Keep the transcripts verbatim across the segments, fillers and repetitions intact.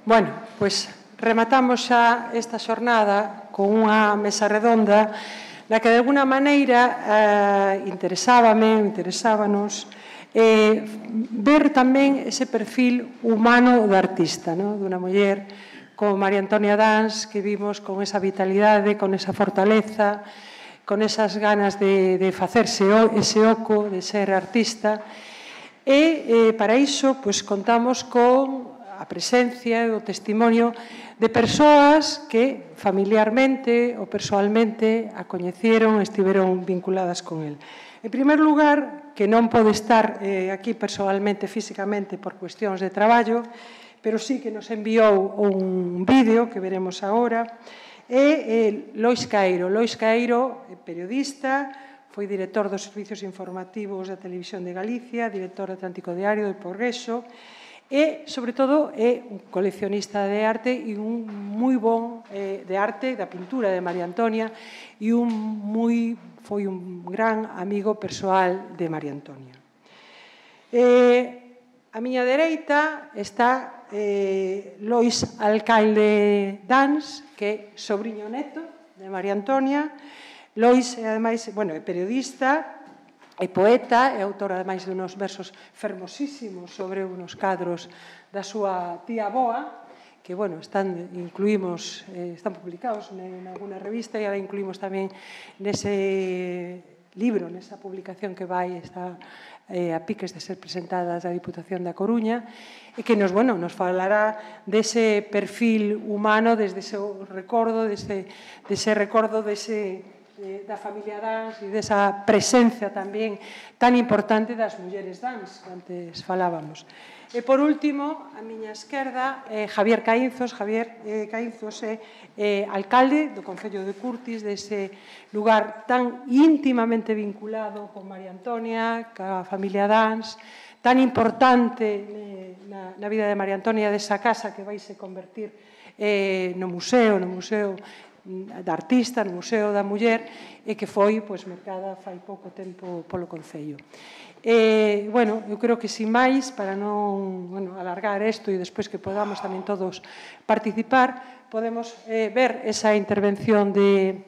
Bueno, pois rematamos xa esta xornada con unha mesa redonda na que de alguna maneira eh, interesábame, interesábanos eh, ver tamén ese perfil humano do artista, no? Dunha muller como María Antonia Dans, que vimos con esa vitalidade, con esa fortaleza, con esas ganas de, de facerse ese oco, de ser artista. E eh, para iso pois, contamos con a presencia e o testimonio de persoas que familiarmente ou persoalmente a coñeceron, estiveron vinculadas con el. En primer lugar, que non pode estar eh, aquí persoalmente, físicamente, por cuestións de traballo, pero sí que nos enviou un vídeo que veremos agora, é eh, Lois Caeiro. Lois Caeiro, periodista, foi director dos servicios informativos da Televisión de Galicia, director do Atlántico Diario, do Progreso, e, sobre todo, é un coleccionista de arte e un moi bon eh, de arte, da pintura de María Antonia, e un moi, foi un gran amigo persoal de María Antonia. Eh, a miña dereita está eh, Lois Alcalde Dans, que é sobrinho neto de María Antonia. Lois, ademais, bueno, é periodista, é poeta, é autora, ademais, de unos versos fermosísimos sobre unos cadros da súa tía avoa, que, bueno, están, incluímos, eh, están publicados en alguna revista e ahora incluímos tamén nese libro, nesa publicación que vai, está eh, a piques de ser presentada da Diputación da Coruña, e que nos, bueno, nos falará dese perfil humano, desde ese recordo, dese, dese recordo dese da familia Dans e desa presencia tamén tan importante das mulleres Dans, que antes falábamos. E, por último, a miña esquerda, eh, Javier Caínzos. Javier eh, Caínzos é eh, alcalde do Concello de Curtis, dese lugar tan íntimamente vinculado con María Antonia, ca familia Dans, tan importante eh, na, na vida de María Antonia, desa casa que vai se convertir eh, no museo, no museo da artista, no Museo da Muller, e que foi pois, mercada fai pouco tempo polo Concello. E, bueno, eu creo que, sin máis, para non bueno, alargar isto e despois que podamos tamén todos participar, podemos eh, ver esa intervención de,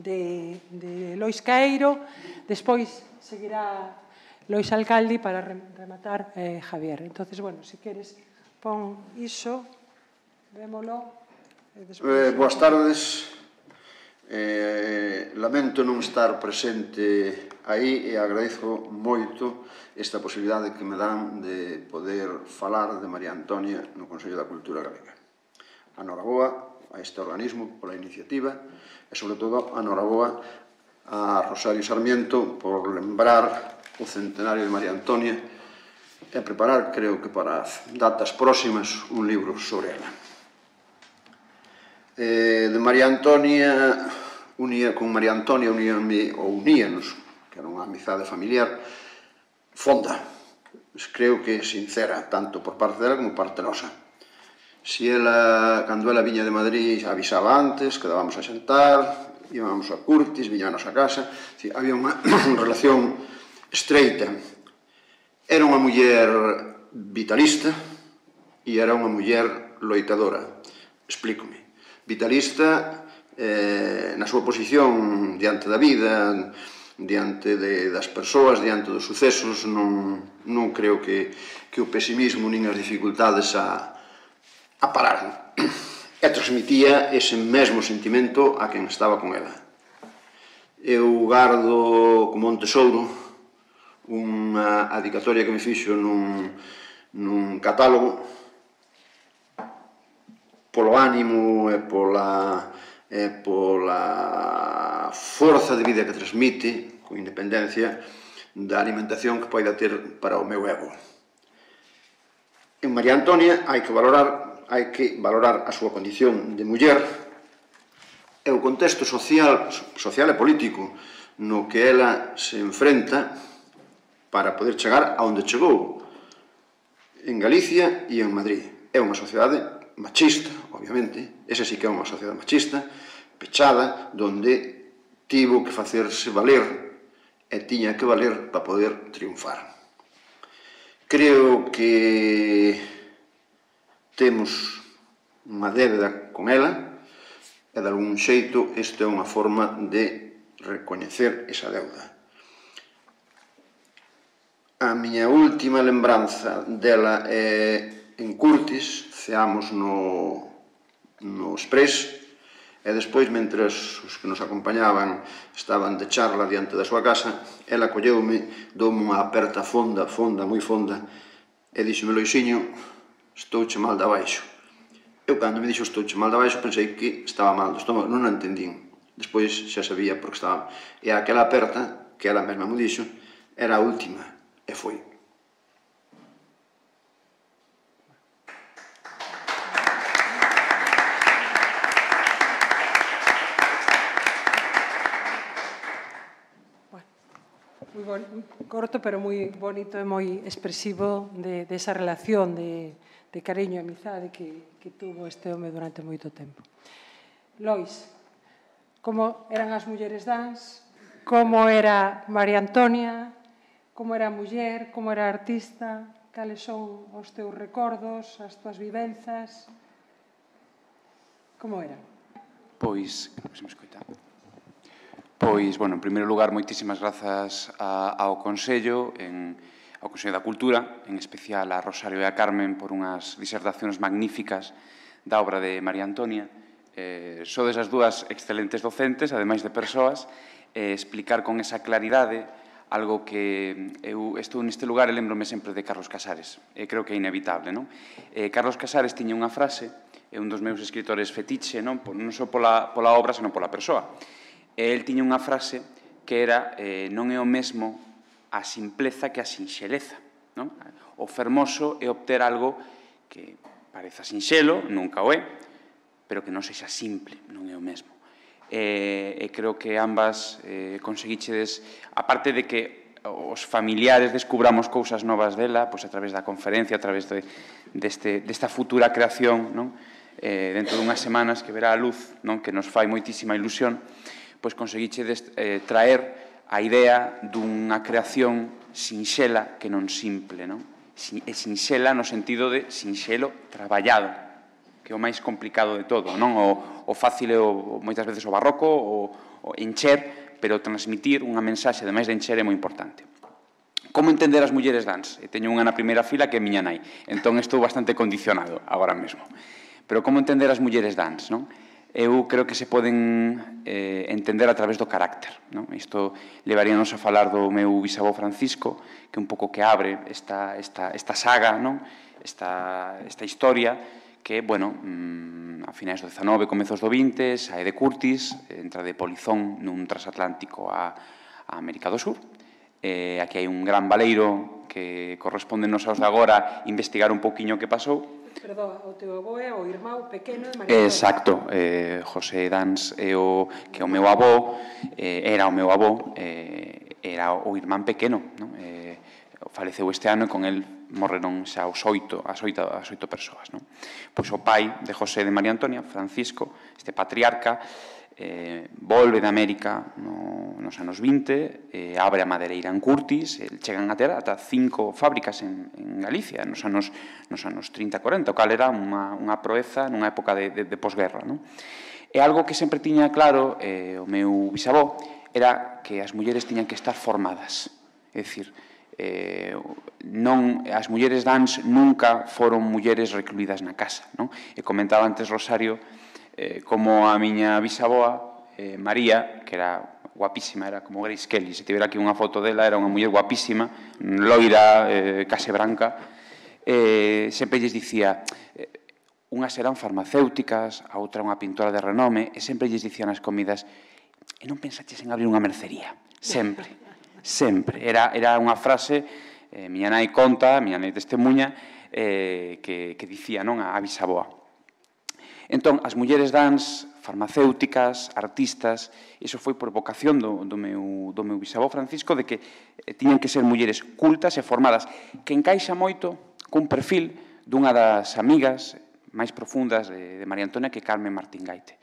de, de Lois Caeiro, despois seguirá Lois Alcalde para rematar eh, Javier. Entonces, bueno, se queres, pon iso, vémolo. Eh, boas tardes. Eh, lamento non estar presente aí e agradezo moito esta posibilidade que me dan de poder falar de María Antonia no Consello da Cultura Galega. Anoraboa a este organismo pola iniciativa e, sobre todo, anoraboa a Rosario Sarmiento por lembrar o centenario de María Antonia e preparar, creo que para datas próximas, un libro sobre ela. Eh, de María Antonia, unía, con María Antonia uníame, ou uníanos, que era unha amizade familiar, fonda, creo que sincera, tanto por parte dela como por parte nosa. Si ela, cando ela viña de Madrid, avisaba antes, quedábamos a xantar, íbamos a Curtis, viña a nosa casa, había unha relación estreita. Era unha muller vitalista e era unha muller loitadora. Explícome. Vitalista eh, na súa posición diante da vida, diante de, das persoas, diante dos sucesos, non, non creo que, que o pesimismo nin as dificultades a, a pararan. E transmitía ese mesmo sentimento a quen estaba con ela. Eu gardo como un tesouro unha adicatoria que me fixo nun, nun catálogo polo ánimo e pola, e pola forza de vida que transmite, con independencia da alimentación que poida ter para o meu ego. En María Antonia hai que valorar, hai que valorar a súa condición de muller e o contexto social, social e político no que ela se enfrenta para poder chegar a onde chegou, en Galicia e en Madrid. É unha sociedade machista, obviamente, esa sí que é unha sociedade machista, pechada, donde tivo que facerse valer e tiña que valer para poder triunfar. Creo que temos unha débeda con ela, e de algún xeito esta é unha forma de recoñecer esa deuda. A miña última lembranza dela é en Curtis, ceamos no, no Express, e despois, mentras os que nos acompañaban estaban de charla diante da súa casa, ela colleume, doume unha aperta fonda, fonda, moi fonda, e díxome: Loisiño, estouche mal de abaixo. Eu, cando me dixo estouche mal de abaixo, pensei que estaba mal do estómago, non a entendín. Despois xa sabía porque estaba... E aquela aperta, que ela mesma me dixo, era a última, e foi. Moi bon, corto, pero moi bonito e moi expresivo de, de esa relación de, de cariño e amizade que, que tuvo este home durante moito tempo. Lois, como eran as mulleres dans, como era María Antonia, como era muller, como era artista, cales son os teus recordos, as túas vivenzas, como era? Pois, creo que se me escoita. Pois, bueno, en primeiro lugar, moitísimas grazas a, ao Consello, en, ao Consello da Cultura, en especial a Rosario e a Carmen, por unhas disertacións magníficas da obra de María Antonia. Eh, sodes as dúas excelentes docentes, ademais de persoas, eh, explicar con esa claridade algo que eu estou neste lugar e lembrome sempre de Carlos Casares. E creo que é inevitable, non? Eh, Carlos Casares tiña unha frase, é un dos meus escritores fetiche, non, non só pola, pola obra, senón pola persoa. E el tiña unha frase que era eh, non é o mesmo a simpleza que a sinxeleza. Non? O fermoso é obter algo que pareza sinxelo, nunca o é, pero que non sexa simple, non é o mesmo. E, e creo que ambas eh, conseguichedes, aparte de que os familiares descubramos cousas novas dela, pois a través da conferencia, a través de, deste, desta futura creación, non? Eh, dentro dunhas semanas que verá a luz, non? Que nos fai moitísima ilusión, pois conseguichedes eh, traer a idea dunha creación sinxela que non simple, non? E sinxela no sentido de sinxelo traballado, que é o máis complicado de todo, non? O, o fácil é o, moitas veces o barroco, o, o encher, pero transmitir unha mensaxe, ademais de encher, é moi importante. Como entender as mulleres dans? E teño unha na primeira fila que é miña nai, entón estou bastante condicionado agora mesmo. Pero como entender as mulleres dans, non? Eu creo que se poden eh, entender a través do carácter. Non? Isto levaríanos a falar do meu bisavó Francisco, que un pouco que abre esta, esta, esta saga, non? Esta, esta historia, que, bueno, mmm, a finais do dezanove, comezos do vinte, sae de Curtis, entra de polizón nun transatlántico a, a América do Sur. Eh, aquí hai un gran baleiro que correspondenos aos de agora investigar un pouquiño o que pasou. Perdón, o teu avó é o irmão pequeno de María Antonia. Exacto, eh, José Dans é o que é o meu avó, eh, era o meu avó, eh, era o irmán pequeno, non? Eh, faleceu este ano e con el morreron xa os oito, as oito, as oito persoas, non? Pois o pai de José de María Antonia, Francisco, este patriarca, eh, volve de América no, nos anos vinte, eh, abre a madereira en Curtis, el, chegan a ter ata cinco fábricas en, en Galicia nos anos, nos anos trinta e corenta, o cal era unha, unha proeza nunha época de, de, de posguerra, non? E algo que sempre tiña claro eh, o meu bisavó era que as mulleres tiñan que estar formadas, é dicir, eh, non, as mulleres dans nunca foron mulleres recluídas na casa, non? E comentaba antes Rosario Eh, como a miña bisaboa, eh, María, que era guapísima, era como Grace Kelly, se tivera aquí unha foto dela, era unha muller guapísima, loira, eh, case branca, eh, sempre lles dicía, eh, unhas eran farmacéuticas, a outra unha pintora de renome, e sempre lles dicían nas comidas, e non pensaches en abrir unha mercería, sempre, sempre, era, era unha frase, eh, miña nai conta, miña nai testemunha, eh, que, que dicía, non, a, a bisaboa. Entón, as mulleres dans, farmacéuticas, artistas, iso foi por vocación do, do, meu, do meu bisavó Francisco, de que eh, tiñan que ser mulleres cultas e formadas, que encaixa moito cun perfil dunha das amigas máis profundas de, de María Antonia, que é Carmen Martín Gaite.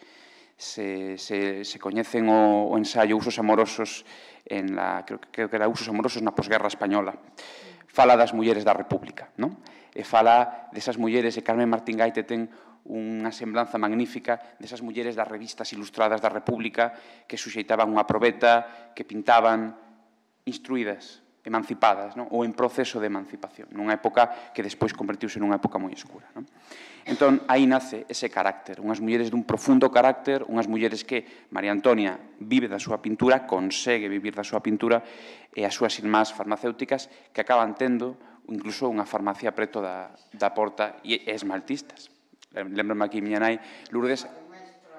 Se, se, se coñecen o, o ensaio Usos amorosos, en la, creo, creo que era Usos amorosos na posguerra española. fala das mulleres da República, non? E fala desas mulleres, e Carmen Martín Gaite ten unha semblanza magnífica desas mulleres das revistas ilustradas da República que suxeitaban unha probeta, que pintaban instruídas, emancipadas, non? Ou en proceso de emancipación, nunha época que despois convertiuse nunha época moi escura, non? Entón, aí nace ese carácter, unhas mulleres dun profundo carácter, unhas mulleres que María Antonia vive da súa pintura, consegue vivir da súa pintura, e as súas irmás farmacéuticas que acaban tendo incluso unha farmacia preto da, da porta e esmaltistas. Lembro-me aquí miña nai Lourdes,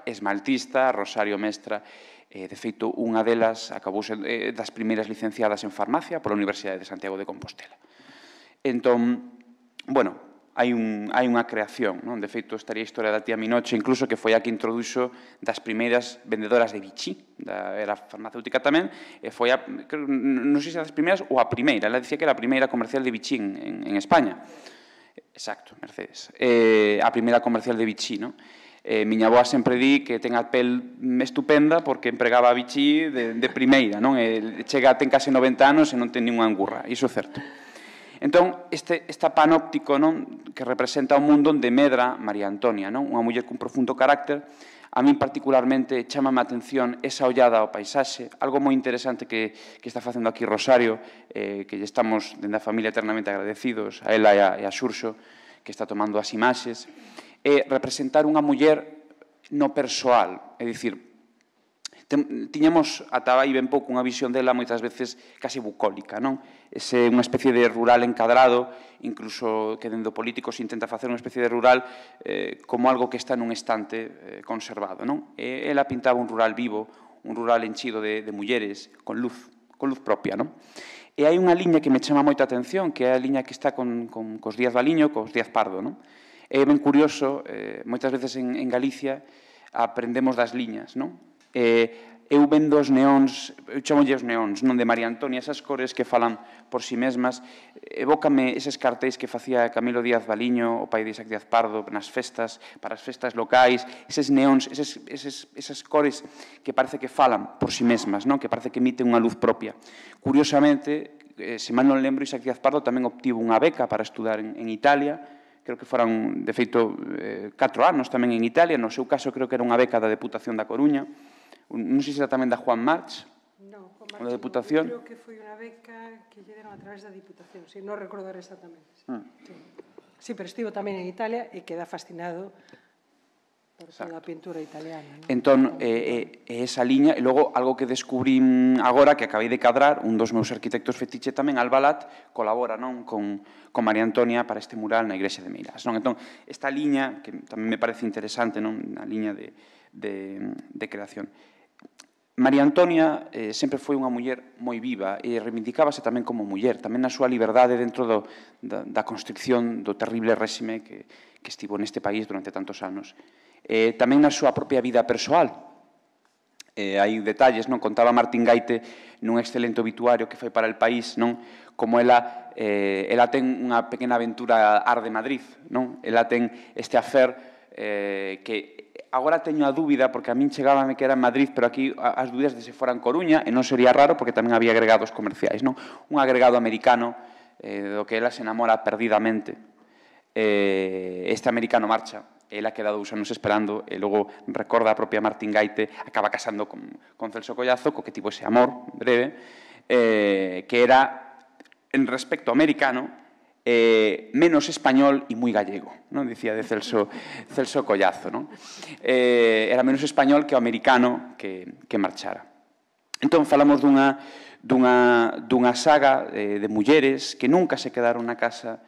esmaltista, Rosario Mestra, eh, de feito, unha delas acabou sendo eh, das primeiras licenciadas en farmacia pola Universidade de Santiago de Compostela. Entón, bueno, hai, un, hai unha creación, non? De feito, estaría a historia da tía Minoche, incluso que foi a que introduxo das primeiras vendedoras de Vichy, da, era farmacéutica tamén, e foi a, creo, non sei se das primeiras ou a primeira, ela dicía que era a primeira comercial de Vichy en, en, en España. Exacto, Mercedes. Eh, a primeira comercial de Vichy, non? Eh, miña avoa sempre di que ten a pel estupenda porque empregaba a Vichy de, de primeira, non? E chega, ten case noventa anos e non ten ninguna angurra, iso é certo. Entón, este, esta panóptico, non, que representa o mundo onde medra María Antonia, non? Unha muller cun profundo carácter. A min particularmente chamame a atención esa ollada ao paisaxe, algo moi interesante que, que está facendo aquí Rosario, eh, que lle estamos, dende a familia, eternamente agradecidos, a ela e a, e a Xurxo, que está tomando as imaxes, é representar unha muller no persoal, é dicir, tiñamos ata aí ben pouco unha visión dela moitas veces casi bucólica, non? Ese unha especie de rural encadrado, incluso que dentro políticos intenta facer unha especie de rural eh, como algo que está nun estante eh, conservado, non? E ela pintaba un rural vivo, un rural enchido de, de mulleres, con luz, con luz propia, non? E hai unha liña que me chama moita atención, que é a liña que está con, con, cos Díaz Valiño, cos Díaz Pardo, non? É ben curioso, eh, moitas veces en, en Galicia aprendemos das liñas, non? Eh, eu vendo os neóns, eu chamolle os neóns, non de María Antonia, esas cores que falan por si mesmas, evócame eses cartéis que facía Camilo Díaz Valiño, o pai de Isaac Díaz Pardo, nas festas, para as festas locais, eses neóns, eses, eses, esas cores que parece que falan por si mesmas, non? Que parece que emiten unha luz propia. Curiosamente, eh, se mal non lembro, Isaac Díaz Pardo tamén obtivo unha beca para estudar en, en Italia, creo que foran, de feito, eh, catro anos tamén en Italia, no seu caso creo que era unha beca da Deputación da Coruña, non sei se era tamén da Juan March, no, Juan da Deputación. Creo que foi unha beca que lle deron a través da Diputación, si, non recordar exactamente. Sí, mm. sí. sí, pero estivo tamén en Italia e queda fascinado por toda a pintura italiana. ¿No? Entón, eh, eh, esa liña, e logo, algo que descubrín agora, que acabei de cadrar, un dos meus arquitectos fetiche tamén, Albalat, colabora non con, con María Antonia para este mural na igrexa de Meirás. Non? Entón, esta liña, que tamén me parece interesante, non? Na liña de, de, de creación. María Antonia eh, sempre foi unha muller moi viva e reivindicábase tamén como muller, tamén na súa liberdade dentro do, da, da constricción do terrible réxime que, que estivo neste país durante tantos anos. Eh, tamén na súa propia vida persoal. Eh, hai detalles, non? Contaba Martín Gaite nun excelente obituario que foi para El País, non? Como ela, eh, ela ten unha pequena aventura ar de Madrid, non? Ela ten este afer eh, que agora teño a dúbida, porque a min chegábame que era en Madrid, pero aquí as dúbidas de se fora en Coruña, e non sería raro, porque tamén había agregados comerciais, non? Un agregado americano, eh, do que ela se enamora perdidamente. Eh, este americano marcha, ela queda dous anos esperando, e logo recorda a propia Martín Gaite, acaba casando con, con Celso Collazo, co que tivo ese amor breve, eh, que era, en respecto americano, Eh, menos español e moi gallego, non? Dicía de Celso, Celso Collazo, non? Eh, era menos español que o americano que, que marchara. Entón, falamos dunha, dunha, dunha saga eh, de mulleres que nunca se quedaron na casa,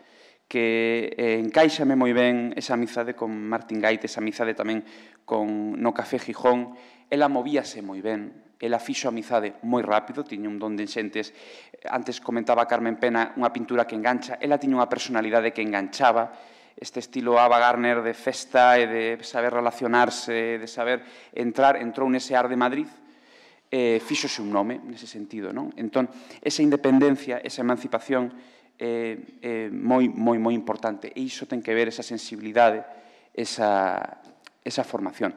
que eh, encaixame moi ben esa amizade con Martín Gaite, esa amizade tamén con no Café Gijón. Ela movíase moi ben, ela fixo amizade moi rápido, tiña un don de xentes. Antes comentaba Carmen Pena unha pintura que engancha, ela tiña unha personalidade que enganchaba, este estilo Ava Gardner de festa e de saber relacionarse, de saber entrar, entrou nese ar de Madrid, eh, fixose un nome nese sentido, non? Entón, esa independencia, esa emancipación é eh, eh, moi, moi, moi importante, e iso ten que ver esa sensibilidade, esa, esa formación.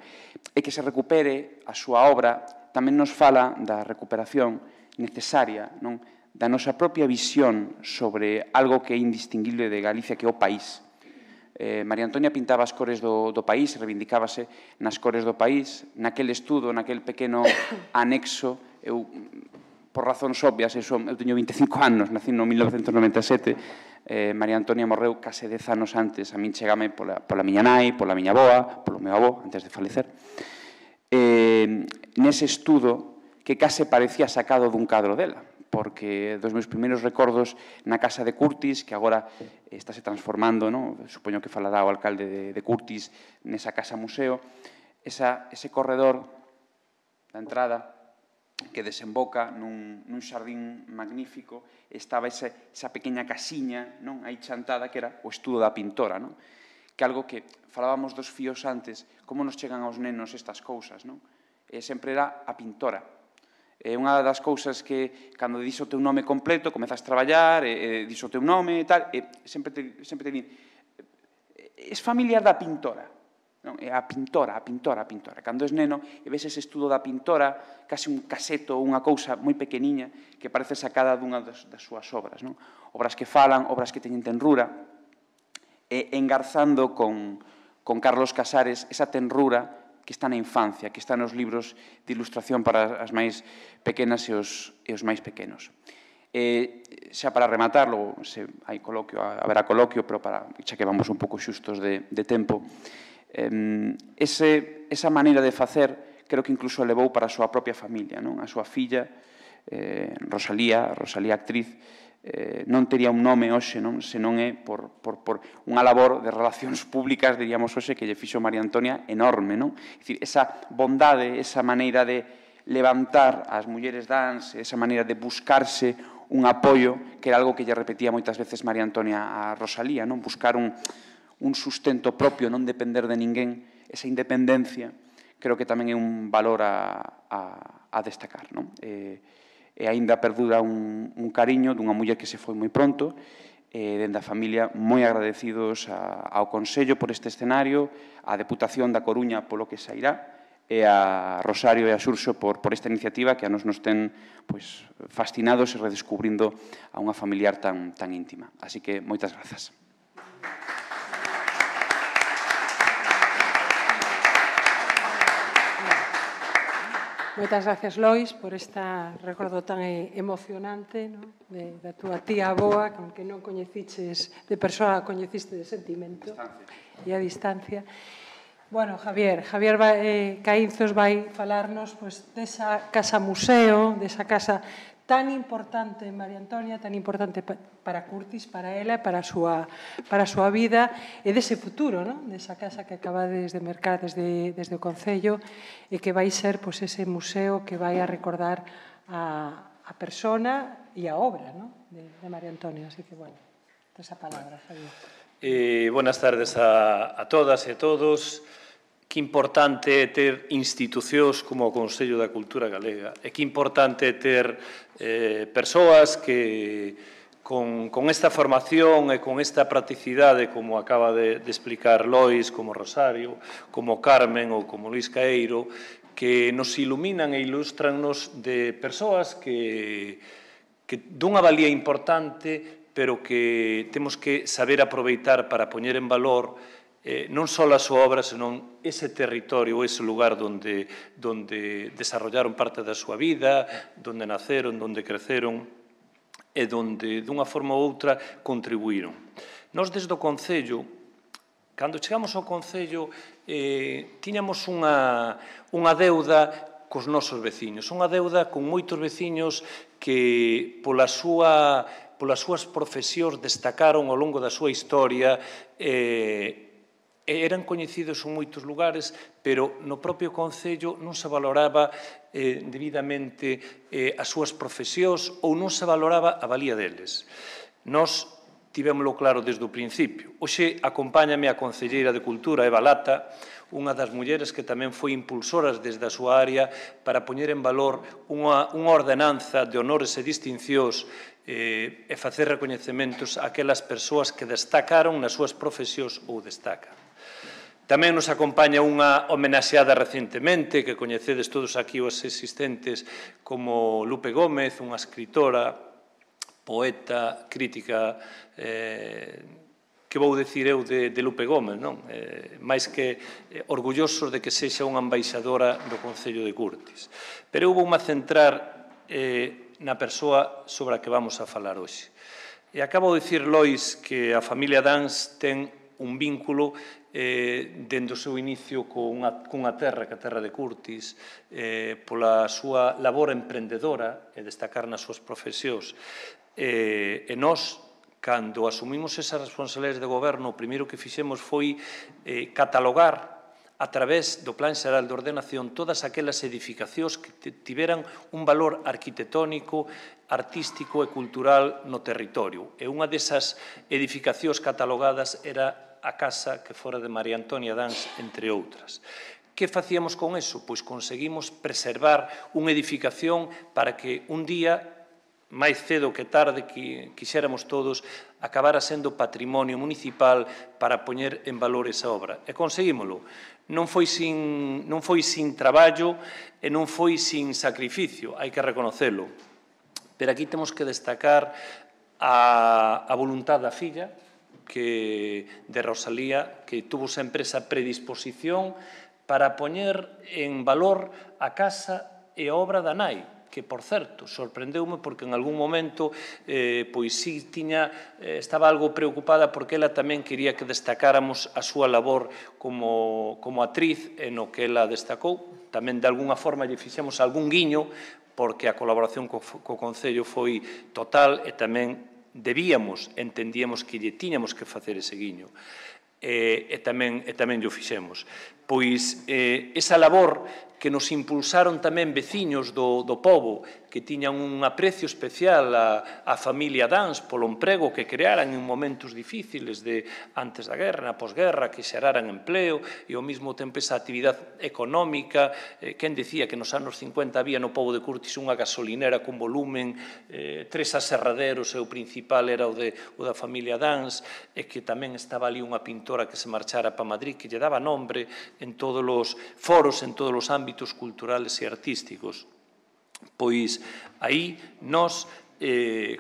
E que se recupere a súa obra tamén nos fala da recuperación necesaria, non? da nosa propia visión sobre algo que é indistinguible de Galicia, que é o país. Eh, María Antonia pintaba as cores do, do país, reivindicábase nas cores do país, naquele estudo, naquele pequeno anexo. Eu, por razóns obvias, eu, son, eu teño vinte e cinco anos, nací no mil novecentos noventa e sete, eh, María Antonia morreu case dez anos antes, a min chegame pola, pola miña nai, pola miña avoa, polo meu avó, antes de falecer. Eh, nese estudo que case parecía sacado dun cadro dela, porque dos meus primeiros recordos na casa de Curtis, que agora estáse transformando, no? Supoño que falará o alcalde de, de Curtis nesa casa museo, esa, ese corredor da entrada que desemboca nun, nun xardín magnífico, estaba esa, esa pequena casiña, non, aí chantada, que era o estudo da pintora, non? Que algo que falábamos dos fíos antes, como nos chegan aos nenos estas cousas, non? E sempre era a pintora. É unha das cousas que, cando dixo o teu nome completo, comezas a traballar, e, e dixo o teu nome e tal, e sempre te, sempre te din, es familiar da pintora. Non? É a pintora, a pintora, a pintora. Cando és neno e ves ese estudo da pintora, case un caseto, unha cousa moi pequeniña que parece sacada dunha das, das súas obras. Non? Obras que falan, obras que teñen tenrura, e engarzando con, con Carlos Casares esa tenrura que está na infancia, que está nos libros de ilustración para as máis pequenas e os, e os máis pequenos. E, xa para rematar, logo se hai coloquio, haberá coloquio, pero para, xa que vamos un pouco xustos de, de tempo, Ese, esa maneira de facer creo que incluso levou para a súa propia familia, non? A súa filla, eh, Rosalía, Rosalía actriz, eh, non tería un nome hoxe, non? Se non é por, por, por unha labor de relacións públicas, diríamos hoxe, que lle fixo María Antonia enorme, non? É dicir, esa bondade, esa maneira de levantar as mulleres dans, esa maneira de buscarse un apoio, que era algo que lle repetía moitas veces María Antonia a Rosalía, non? Buscar un un sustento propio, non depender de ninguén, esa independencia, creo que tamén é un valor a, a, a destacar. Non? E, e aínda perdura un, un cariño dunha muller que se foi moi pronto, e dende a familia moi agradecidos a, ao Consello por este escenario, á Deputación da Coruña polo que sairá, e a Rosario e a Xurxo por, por esta iniciativa que a nos nos ten pues, fascinados e redescubrindo a unha familiar tan, tan íntima. Así que moitas grazas. Moitas gracias, Lois, por esta recordo tan emocionante, ¿no? de, da túa tía avoa, con que non coñeciches de persoa, coñeciste de sentimento e a distancia. Bueno, Javier, Javier vai, eh, Caínzos vai falarnos pues, desa casa museo, desa casa tan importante, María Antonia, tan importante para Curtis, para ela, para a súa, para a súa vida, e dese futuro, non? Desa casa que acabades de mercar desde, desde o Concello, e que vai ser pues, ese museo que vai a recordar a, a persona e a obra, non? de, de María Antonia. Así que, bueno, esa palabra, Javier. Eh, buenas tardes a, a todas e a todos. Que importante é ter institucións como o Consello da Cultura Galega e que importante é ter eh, persoas que con, con esta formación e con esta practicidade como acaba de, de explicar Lois, como Rosario, como Carmen ou como Luis Caeiro, que nos iluminan e ilustrannos de persoas que, que dunha valía importante, pero que temos que saber aproveitar para poñer en valor Eh, non só a súa obra, senón ese territorio, ese lugar donde, donde desarrollaron parte da súa vida, donde naceron, donde creceron e donde, dunha forma ou outra, contribuíron. Nós, desde o Concello, cando chegamos ao Concello, eh, tiñamos unha, unha deuda cos nosos veciños, unha deuda con moitos veciños que, pola súa, polas súas profesións, destacaron ao longo da súa historia e, eran coñecidos en moitos lugares, pero no propio Concello non se valoraba eh, debidamente eh, as súas profesións ou non se valoraba a valía deles. Nós tivémolo claro desde o principio. Hoxe acompáñame a concelleira de Cultura, Eva Lata, unha das mulleres que tamén foi impulsoras desde a súa área para poñer en valor unha, unha ordenanza de honores e distincións eh, e facer recoñecementos a aquelas persoas que destacaron nas súas profesións ou destacan. Tamén nos acompaña unha homenaxeada recentemente, que coñecedes todos aquí os existentes, como Lupe Gómez, unha escritora poeta, crítica, que vou dicir eu de Lupe Gómez, non? Máis que orgullosos de que sexa unha embaixadora do Concello de Curtis. Pero eu vou-me centrar na persoa sobre a que vamos a falar hoxe. E acabo de dicir, Lois, que a familia Dans ten un vínculo dende o seu inicio cunha terra, que a terra de Curtis, pola súa labor emprendedora e destacar nas súas profesións. E nós, cando asumimos esas responsabilidades de goberno, o primeiro que fixemos foi catalogar a través do Plan Xeral de Ordenación todas aquelas edificacións que tiveran un valor arquitectónico, artístico e cultural no territorio. E unha desas edificacións catalogadas era a casa que fora de María Antonia Dans, entre outras. Que facíamos con eso? Pois conseguimos preservar unha edificación para que un día, máis cedo que tarde, que quixéramos todos, acabara sendo patrimonio municipal para poñer en valor esa obra. E conseguímolo. Non foi sin, non foi sin traballo e non foi sin sacrificio, hai que reconocelo. Pero aquí temos que destacar a, a voluntad da filla, que de Rosalía, que tuvo sempre esa predisposición para poñer en valor a casa e a obra da nai, que, por certo, sorprendeume porque en algún momento pois sí tiña, estaba algo preocupada porque ela tamén quería que destacáramos a súa labor como actriz e no que ela destacou. Tamén, de alguna forma, lle fixemos algún guiño porque a colaboración co Concello foi total e tamén debíamos, entendíamos que lle tiñamos que facer ese guiño. E tamén lle fixemos. Pois esa labor que nos impulsaron tamén veciños do pobo, que tiñan un aprecio especial á familia Dans polo emprego que crearan en momentos difíciles de antes da guerra, na posguerra, que xeraran empleo e ao mesmo tempo esa actividade económica. Quen decía que nos anos cincuenta había no pobo de Curtis unha gasolinera con volumen, tres aserraderos e o principal era o da familia Dans, e que tamén estaba ali unha pintora que se marchara para Madrid que lle daba nombre en todos os foros, en todos os ámbitos culturales e artísticos. Pois aí nós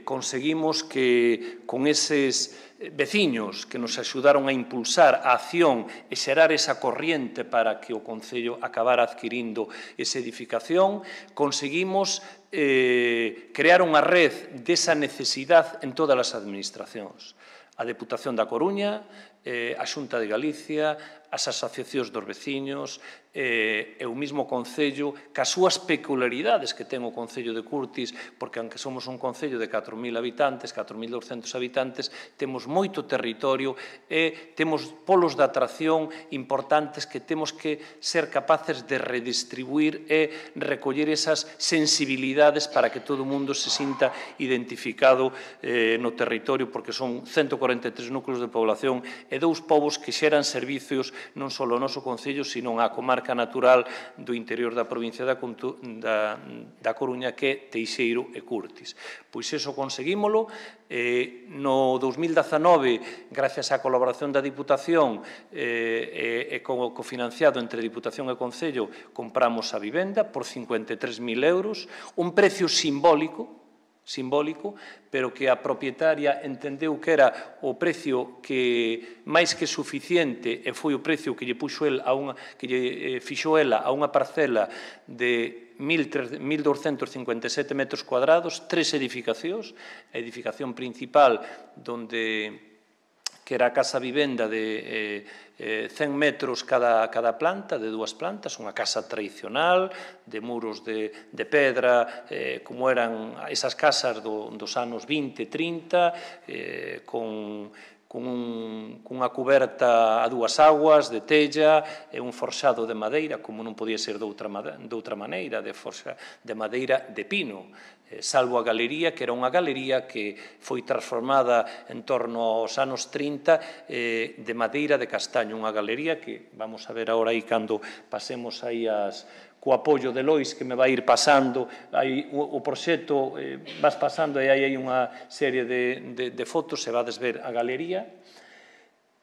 conseguimos que con eses veciños que nos axudaron a impulsar a acción e xerar esa corriente para que o Concello acabara adquirindo esa edificación, conseguimos crear unha red desa necesidade en todas as administracións. A Deputación da Coruña, a Xunta de Galicia, as asociacións dos veciños e o mesmo Concello, cas súas peculiaridades que ten o Concello de Curtis, porque aunque somos un Concello de catro mil habitantes, catro mil douscentos habitantes, temos moito territorio e temos polos de atracción importantes que temos que ser capaces de redistribuir e recoller esas sensibilidades para que todo o mundo se sinta identificado no territorio, porque son ciento cuarenta e tres núcleos de población e dous povos que xeran servicios non só ao noso Concello, sino á comarca natural do interior da provincia da Coruña, que é Teixeiro e Curtis. Pois iso conseguímolo. No dous mil dezanove, gracias á colaboración da Diputación e cofinanciado entre Diputación e Concello, compramos a vivenda por cincuenta e tres mil euros, un precio simbólico, simbólico, pero que a propietaria entendeu que era o precio que máis que suficiente e foi o precio que lle puxo el a unha que lle fixou ela a unha parcela de mil douscentos cincuenta e sete metros cuadrados, tres edificacións, a edificación principal donde que era a casa vivenda de cen metros cada planta, de dúas plantas, unha casa tradicional, de muros de pedra, como eran esas casas dos anos vinte, trinta, con cunha cuberta a dúas aguas de tella e un forxado de madeira, como non podía ser doutra maneira, de madeira de pino, salvo a galería, que era unha galería que foi transformada en torno aos anos trinta de madeira de castaño, unha galería que vamos a ver agora aí cando pasemos aí as co apoio de Lois, que me vai ir pasando o proxecto, vas pasando e aí hai unha serie de fotos e vades ver a galería.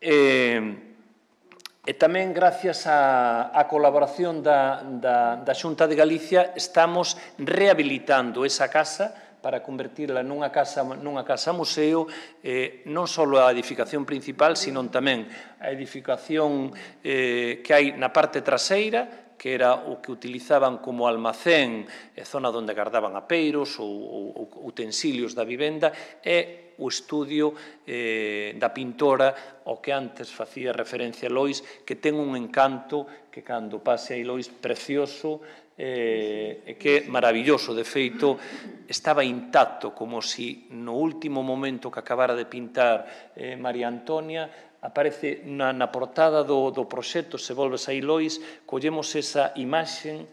E tamén, gracias á colaboración da Xunta de Galicia, estamos rehabilitando esa casa para convertirla nunha casa, nunha casa museo, eh, non só a edificación principal, sino tamén a edificación eh, que hai na parte traseira, que era o que utilizaban como almacén, e zona onde guardaban apeiros ou, ou, ou utensilios da vivenda, e o estudio eh, da pintora, ao que antes facía referencia Lois, que ten un encanto que cando pase aí Lois, precioso, eh, e que é maravilloso. De feito, estaba intacto, como si no último momento que acabara de pintar eh, María Antonia, aparece na, na portada do, do proxecto, se volves aí Lois, collemos esa imaxen,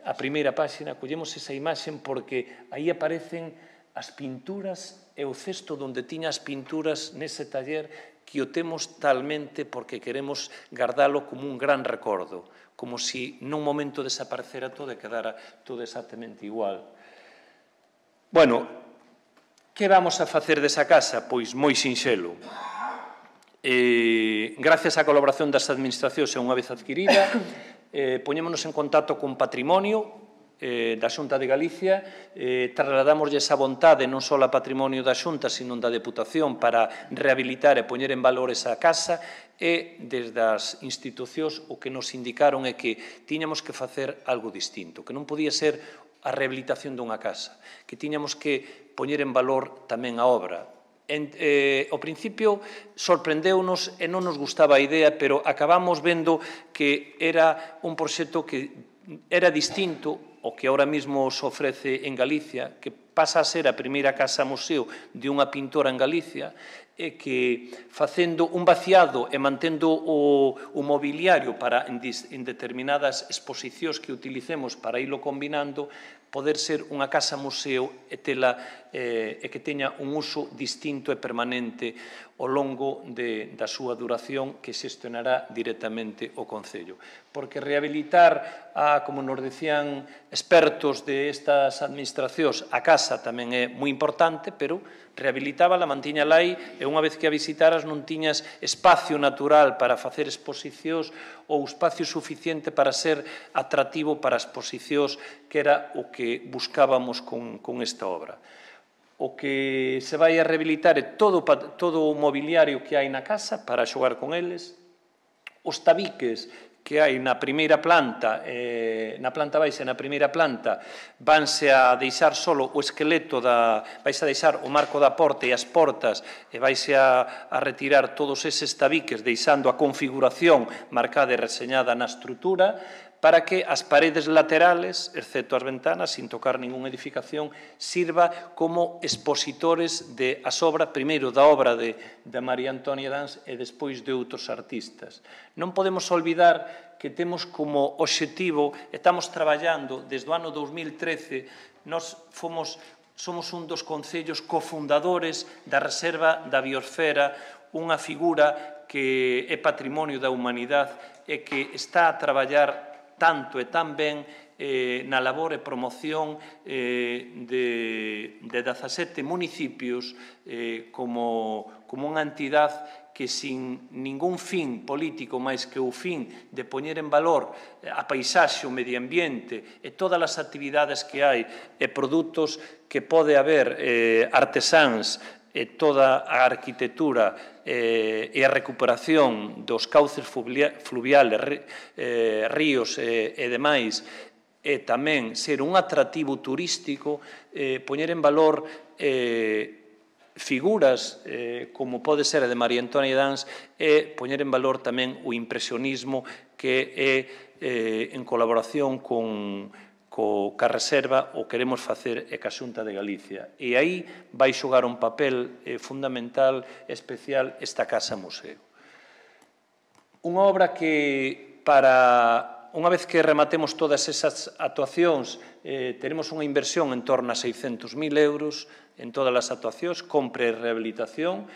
a primeira páxina, collemos esa imaxen porque aí aparecen as pinturas e o cesto onde tiña as pinturas nese taller, que o temos talmente porque queremos guardalo como un gran recordo, como si nun momento desaparecera todo e quedara todo exactamente igual. Bueno, que vamos a facer desa casa? Pois moi sinxelo. Eh, gracias á colaboración das administracións e unha vez adquirida, eh, poñémonos en contacto con Patrimonio eh, da Xunta de Galicia, eh, trasladamoslle esa vontade non só a Patrimonio da Xunta, sino da Deputación para rehabilitar e poñer en valor esa casa, e desde as institucións o que nos indicaron é que tiñamos que facer algo distinto, que non podía ser a rehabilitación dunha casa, que tiñamos que poñer en valor tamén a obra. En, eh, ao principio sorprendeunos e non nos gustaba a idea, pero acabamos vendo que era un proxecto que era distinto ao que ahora mesmo se ofrece en Galicia, que pasa a ser a primeira casa museo de unha pintora en Galicia, e que facendo un vaciado e mantendo o, o mobiliario para en, en determinadas exposicións que utilicemos para irlo combinando, poder ser unha casa museo e, tela, eh, e que teña un uso distinto e permanente ao longo de, da súa duración que xestionará directamente o Concello. Porque rehabilitar, a, como nos decían expertos de estas administracións, a casa tamén é moi importante, pero rehabilitábala, mantiñala aí, e unha vez que a visitaras non tiñas espacio natural para facer exposicións ou espacio suficiente para ser atractivo para exposicións, que era o que buscábamos con, con esta obra. O que se vai a rehabilitar é todo, todo o mobiliario que hai na casa para xogar con eles, os tabiques que hai na primeira planta, eh, na planta baixa e na primeira planta, vanse a deixar solo o esqueleto, da, vaise a deixar o marco da porta e as portas, e vaise a, a retirar todos eses tabiques, deixando a configuración marcada e reseñada na estrutura, para que as paredes laterales, excepto as ventanas, sin tocar ninguna edificación, sirva como expositores de as obras, primeiro da obra de, de María Antonia Dans e despois de outros artistas. Non podemos olvidar que temos como obxectivo, estamos traballando desde o ano dos mil trece, nós fomos, somos un dos concellos cofundadores da Reserva da Biosfera, unha figura que é patrimonio da humanidade e que está a traballar tanto e tan ben eh, na labor e promoción eh, de, de dezasete municipios eh, como, como unha entidade que sin ningún fin político máis que o fin de poñer en valor a paisaxe, o medio ambiente e todas as actividades que hai e produtos que pode haber eh, artesáns e toda a arquitectura eh, e a recuperación dos cauces fluviales, eh, ríos e, e demais, e tamén ser un atractivo turístico, eh, poñer en valor eh, figuras eh, como pode ser a de María Antonia Dans e poñer en valor tamén o impresionismo que é eh, en colaboración con co que a Reserva o queremos facer e ca Xunta de Galicia. E aí vai xogar un papel eh, fundamental, especial, esta Casa Museo. Unha obra que, para unha vez que rematemos todas esas actuacións, eh, teremos unha inversión en torno a seiscentos mil euros en todas as actuacións, compra e rehabilitación,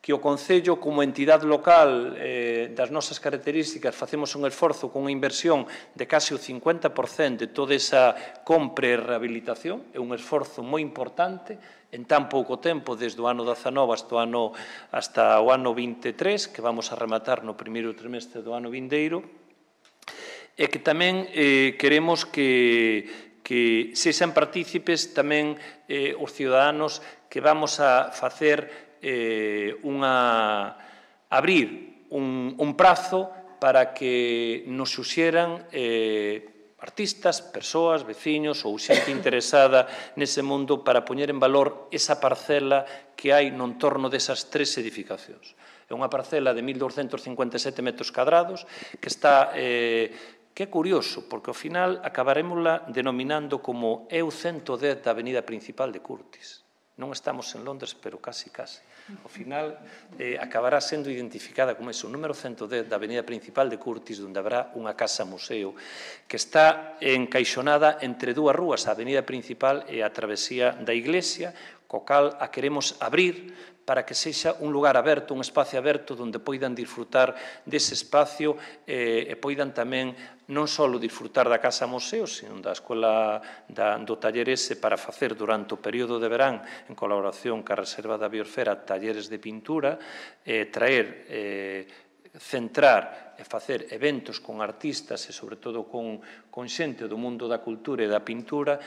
que o Concello, como entidade local eh, das nosas características, facemos un esforzo con unha inversión de case o cincuenta por cento de toda esa compra e rehabilitación. É un esforzo moi importante en tan pouco tempo, desde o ano dezanove hasta o ano, hasta o ano vinte e tres, que vamos a rematar no primeiro trimestre do ano vindeiro, e que tamén eh, queremos que que sexan partícipes tamén eh, os ciudadanos que vamos a facer eh, unha abrir un, un prazo para que nos xuxeran eh, artistas, persoas, veciños ou xente interesada nese mundo para poñer en valor esa parcela que hai no entorno desas tres edificacións. É unha parcela de mil douscentos cincuenta e sete metros cadrados que está... Eh, que é curioso, porque ao final acabarémosla denominando como E U ciento dez da avenida principal de Curtis. Non estamos en Londres, pero casi, casi. Ao final, eh, acabará sendo identificada como eso, o número ciento dez da avenida principal de Curtis, onde habrá unha casa-museo que está encaixonada entre dúas rúas, a avenida principal e a travesía da iglesia, co cal a queremos abrir para que sexa un lugar aberto, un espacio aberto onde poidan disfrutar dese espacio eh, e poidan tamén non só disfrutar da Casa Museo, sino da Escola da, do taller ese para facer durante o período de verán, en colaboración ca Reserva da Biosfera, talleres de pintura, eh, traer... Eh, centrar e facer eventos con artistas e, sobre todo, con, con xente do mundo da cultura e da pintura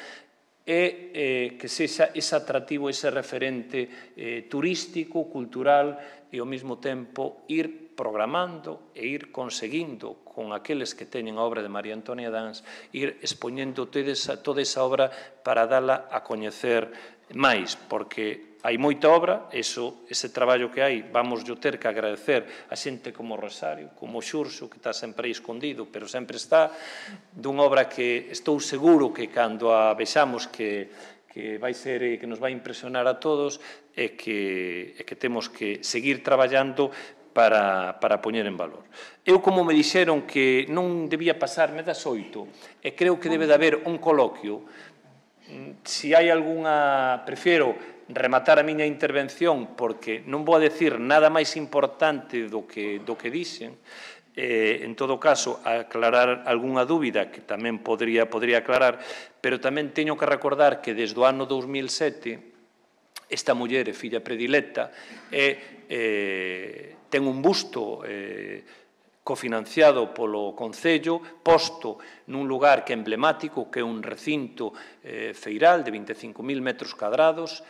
e eh, que sexa ese atractivo, ese referente eh, turístico, cultural e, ao mesmo tempo, ir programando e ir conseguindo con aqueles que teñen a obra de María Antonia Dans, ir expoñendo toda esa obra para dala a coñecer máis, porque hai moita obra, eso, ese traballo que hai, vamos yo ter que agradecer a xente como Rosario, como Xurxo, que está sempre aí escondido, pero sempre está, dunha obra que estou seguro que cando a vexamos que, que vai ser, que nos vai impresionar a todos, e que, e que temos que seguir traballando para, para poñer en valor. Eu, como me dixeron que non debía pasarme das oito, e creo que debe de haber un coloquio, se hai algunha, prefiero rematar a miña intervención porque non vou a decir nada máis importante do que, do que dixen, eh, en todo caso, aclarar algunha dúbida que tamén podría, podría aclarar, pero tamén teño que recordar que desde o ano dous mil sete esta muller é filla predilecta e eh, ten un busto eh, cofinanciado polo Concello, posto nun lugar que é emblemático, que é un recinto eh, feiral de vinte e cinco mil metros cadrados,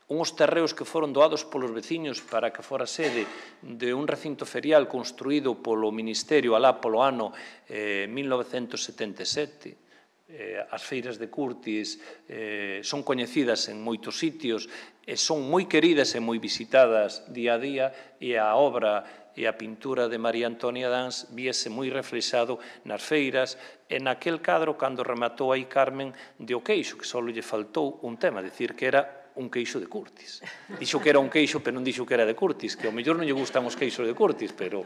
uns terreos que foron doados polos veciños para que fora sede de un recinto ferial construído polo Ministerio alá polo ano eh, mil novecentos setenta e sete. Eh, as feiras de Curtis eh, son coñecidas en moitos sitios e son moi queridas e moi visitadas día a día, e a obra e a pintura de María Antonia Dans viese moi reflexado nas feiras e naquel cadro cando rematou aí Carmen de O Queixo, que só lle faltou un tema, decir que era un queixo de Curtis. Dixo que era un queixo, pero non dixo que era de Curtis, que ao mellor non lle gustan os queixos de Curtis, pero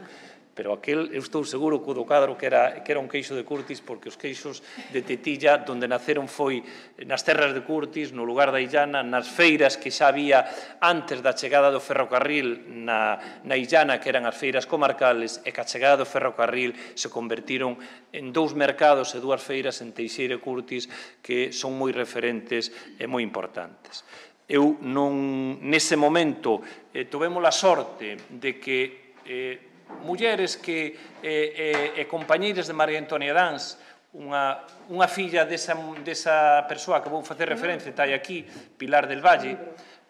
pero aquel, eu estou seguro que o do cadro que era, que era un queixo de Curtis, porque os queixos de Tetilla, donde naceron foi nas terras de Curtis, no lugar da Illana, nas feiras que xa había antes da chegada do ferrocarril na, na Illana, que eran as feiras comarcales, e que a chegada do ferrocarril se convertiron en dous mercados e dúas feiras en Teixeira e Curtis que son moi referentes e moi importantes. Eu non, nese momento, eh, tovemos a sorte de que eh, mulleres que eh, eh, e compañeiras de María Antonia Dans, unha, unha filla desa, desa persoa que vou facer referencia, está aquí, Pilar del Valle,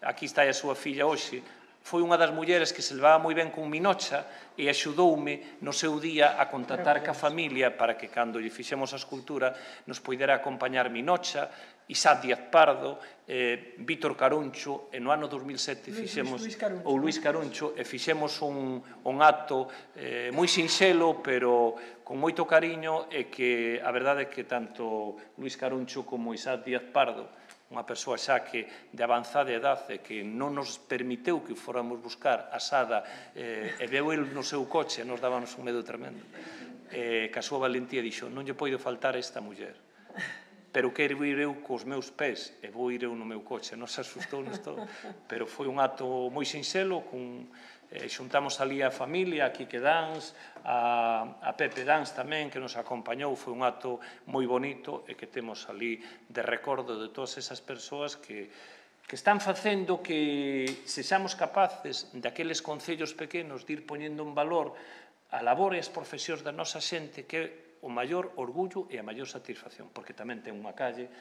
aquí está a súa filla hoxe, foi unha das mulleres que se levaba moi ben con Minocha e axudoume no seu día a contactar ca familia para que cando lle fixemos a escultura nos poidera acompañar Minocha, Isaac Díaz Pardo, eh, Vítor Caruncho, e no ano dos mil sete fixemos, ou Luís Caruncho, e fixemos un, un acto eh, moi sinxelo, pero con moito cariño, e que a verdade é que tanto Luís Caruncho como Isaac Díaz Pardo, unha persoa xa que de avanzada edade que non nos permiteu que fóramos buscar a Sada eh, e veu el no seu coche e nos dábanos un medo tremendo. Eh, que a súa valentía dixo, non lle poido faltar esta muller, pero quero ir eu cos meus pés e vou ir eu no meu coche. Nos asustou-nos todo, pero foi un acto moi sinxelo, con, eh, xuntamos ali a familia, a Quique Dans, a, a Pepe Dans tamén, que nos acompañou, foi un acto moi bonito e que temos ali de recordo de todas esas persoas que, que están facendo que sexamos capaces daqueles concellos pequenos de ir poñendo en valor a labor e as profesións da nosa xente, que o maior orgullo e a maior satisfacción, porque tamén ten unha calle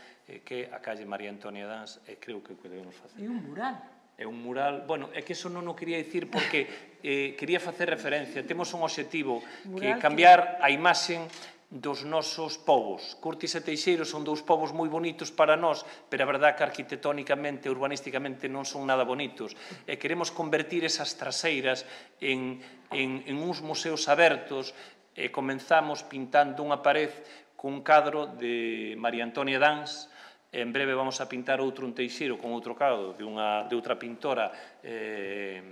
que é a calle María Antonia Dans, e creo que o que debemos facer. E un mural. É un mural, bueno, é que eso non o quería dicir porque eh, quería facer referencia. Temos un obxectivo que cambiar a imaxen dos nosos povos. Curtis e Teixeiro son dous povos moi bonitos para nós, pero a verdade que arquitectónicamente, urbanísticamente non son nada bonitos. E queremos convertir esas traseiras en, en, en uns museos abertos, e comenzamos pintando unha pared cun cadro de María Antonia Dans. En breve vamos a pintar outro un Teixeiro con outro cadro de, unha, de outra pintora, eh,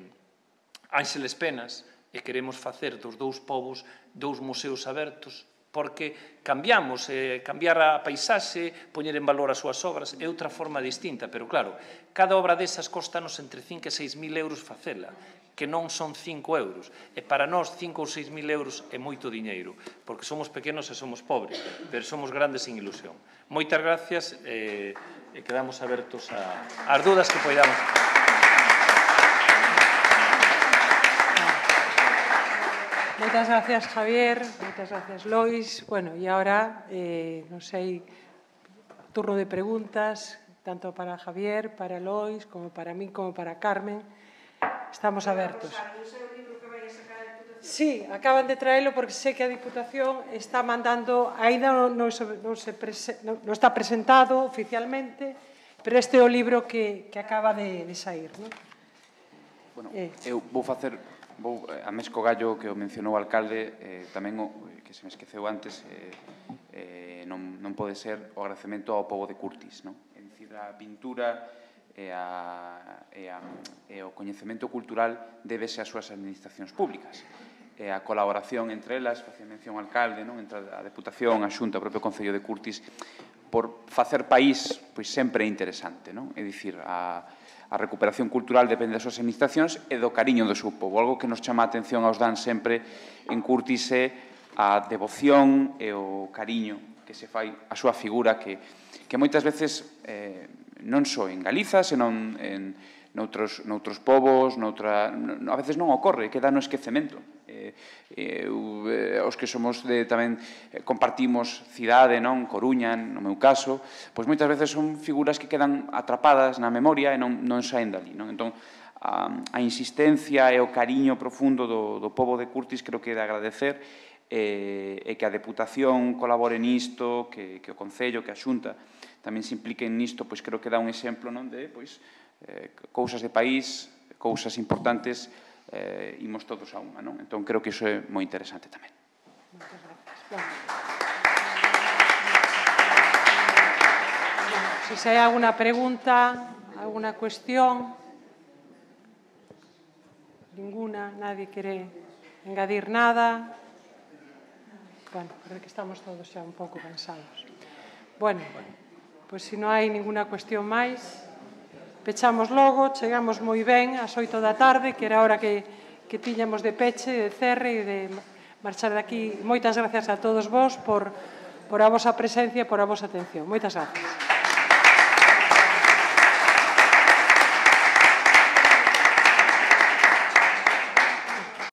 Ángeles Penas, e queremos facer dos dous povos dous museos abertos, porque cambiamos, eh, cambiar a paisaxe, poñer en valor as súas obras, é outra forma distinta, pero claro, cada obra desas costanos entre cinco e seis mil euros facela, que non son cinco euros, e para nós cinco ou seis mil euros é moito diñeiro, porque somos pequenos e somos pobres, pero somos grandes sin ilusión. Moitas gracias, e, e quedamos abertos a, as dudas que poidamos. Moitas gracias, Javier. Moitas gracias, Lois. Bueno, e agora, eh, non sei, turno de preguntas, tanto para Javier, para Lois, como para mí, como para Carmen. Estamos abertos. Sí, acaban de traelo porque sé que a Diputación está mandando, ainda non, non, non, se prese, non, non está presentado oficialmente, pero este é o libro que, que acaba de, de sair, non? Bueno, eh. eu vou facer... Vou, a Mesco Gallo, que o mencionou o alcalde, eh, tamén, o, que se me esqueceu antes, eh, eh, non, non pode ser o agradecemento ao pobo de Curtis, non? É dicir, a pintura e, a, e, a, e o coñecemento cultural débese ás súas administracións públicas. E a colaboración entre elas, facía mención ao alcalde, non? Entre a Deputación, a Xunta, o propio Concello de Curtis, por facer país, pois sempre é interesante, non? É dicir, a... A recuperación cultural depende das súas administracións e do cariño do seu povo. Algo que nos chama a atención aos Dan sempre en Curtis é a devoción e o cariño que se fai a súa figura, que, que moitas veces eh, non só en Galiza, senón en noutros, noutros povos, noutra, a veces non ocorre, queda no esquecemento. Eh, eh, os que somos de, tamén eh, compartimos cidade, non? Coruña, no meu caso, pois moitas veces son figuras que quedan atrapadas na memoria e non, non saen dali, non? Entón, a, a insistencia e o cariño profundo do, do pobo de Curtis creo que é de agradecer, e, e que a Deputación colabore nisto, que, que o Concello, que a Xunta tamén se impliquen nisto, pois creo que dá un exemplo, non? De, pois, eh, cousas de país, cousas importantes, eh, imos todos a unha, non? Entón, creo que iso é moi interesante tamén. Moitas gracias. Bueno. Si se hai alguna pregunta, alguna cuestión, ninguna, nadie quere engadir nada. Bueno, creo que estamos todos xa un pouco cansados. Bueno, pois se non hai ninguna cuestión máis, pechamos logo, chegamos moi ben ás oito da tarde, que era a hora que, que tiñamos de peche, de cerre e de marchar de aquí. Moitas gracias a todos vos por, por a vosa presencia e por a vosa atención. Moitas gracias.